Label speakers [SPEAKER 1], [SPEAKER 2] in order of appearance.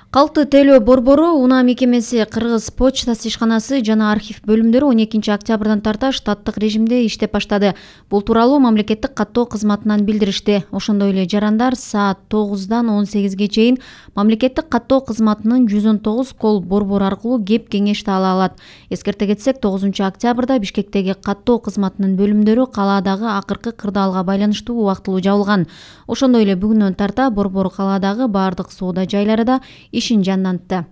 [SPEAKER 1] Калкты тейлөө борбору, Унаа мекемеси, Кыргыз почтасы ишканасы жана архив бөлүмдөрү 12 октябрдан тарта штаттык режимде иштеп баштады. Бул тууралуу мамлекеттик каттоо кызматынан билдиришти. Ошондой эле жарандар саат 9-дан 18-ге чейин мамлекеттик каттоо кызматынын 119 кол борбору аркылуу кеп кеңешти ала алат. Эскерте кетсек, 9 октябрда Бишкектеги каттоо кызматынын бөлүмдөрү калаадагы акыркы кырдаалга байланыштуу убактылуу жабылган. Ошондой эле бүгүнөн тарта борбор калаадагы баардык соода жайларында ишин жандантты.